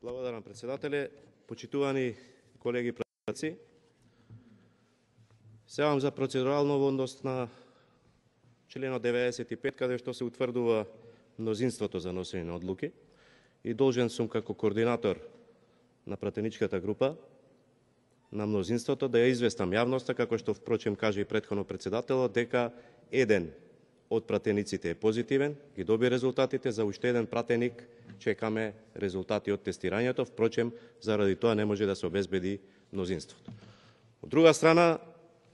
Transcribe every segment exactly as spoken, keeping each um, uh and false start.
Благодарам, председателе. Почитувани колеги пратци, сеам за процедурално во однос на членот деветдесет и пет, каде што се утврдува мнозинството за носење на одлуки, и должен сум како координатор на пратеничката група на мнозинството да ја известам јавноста, како што впрочем каже и претходно председателот, дека еден од пратениците е позитивен, ги доби резултатите, за уште еден пратеник чекаме резултати од тестирањето, впрочем заради тоа не може да се обезбеди мнозинството. Од друга страна,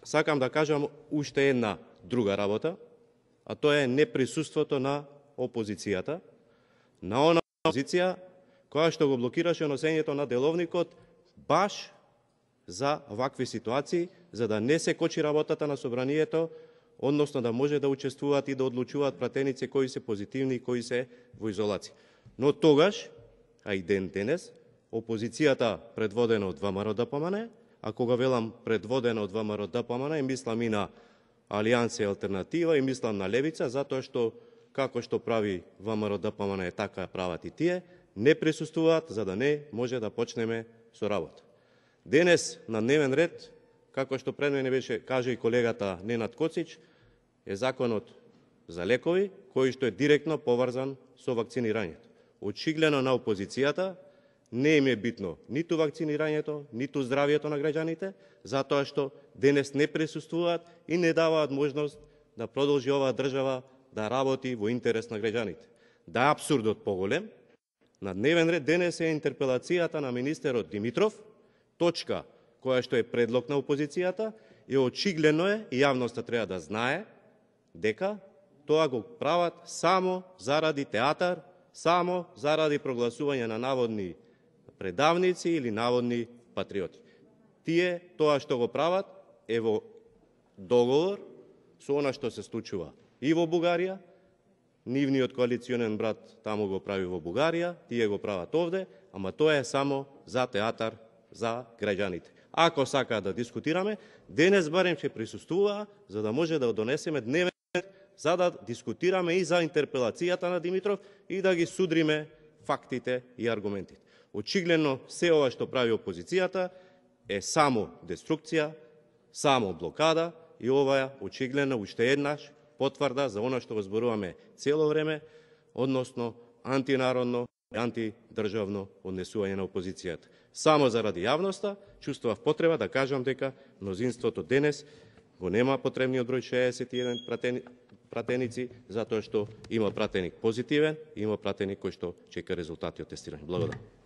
сакам да кажам уште една друга работа, а тоа е неприсуството на опозицијата, на она опозиција која што го блокираше носењето на деловникот баш за вакви ситуации, за да не се кочи работата на собранието, односно да може да учествуваат и да одлучуваат пратеници кои се позитивни и кои се во изолација. Но тогаш, а и ден денес, опозицијата предводена од ВМРО Д П М Н, а кога велам предводена од ВМРО Д П М Н, мислам и на Алијанса и Алтернатива, и мислам на Левица, затоа што како што прави ВМРО Д П М Н, така прават и тие, не присуствуваат за да не може да почнеме со работа. Денес на дневен ред, како што пред мене беше каже и колегата Ненад Коцич, е законот за лекови, кој што е директно поврзан со вакцинирањето. Очигледно на опозицијата не им е битно ниту вакцинирањето, ниту здравието на граѓаните, затоа што денес не присуствуваат и не даваат можност да продолжи оваа држава да работи во интерес на граѓаните. Да е апсурдот поголем, на дневен ред денес е интерпелацијата на министерот Димитров, точка која што е предлог на опозицијата, и очигледно е, и јавноста треба да знае, дека тоа го прават само заради театар, само заради прогласување на наводни предавници или наводни патриоти. Тие тоа што го прават е во договор со она што се случува и во Бугарија, нивниот коалиционен брат таму го прави во Бугарија, тие го прават овде, ама тоа е само за театар за граѓаните. Ако сакаат да дискутираме, денес барем ќе присуствува за да може да донесеме дневен ред, за да дискутираме и за интерпелацијата на Димитров и да ги судриме фактите и аргументите. Очигледно се ова што прави опозицијата е само деструкција, само блокада, и ова е очигледно уште еднаш потврда за она што го зборуваме цело време, односно антинародно и антидржавно однесување на опозицијата. Само заради јавноста чувствував потреба да кажам дека мнозинството денес го нема потребниот број шеесет и еден пратени, пратеници, затоа што има пратеник позитивен, има пратеник кој што чека резултати од тестирање. Благодарам.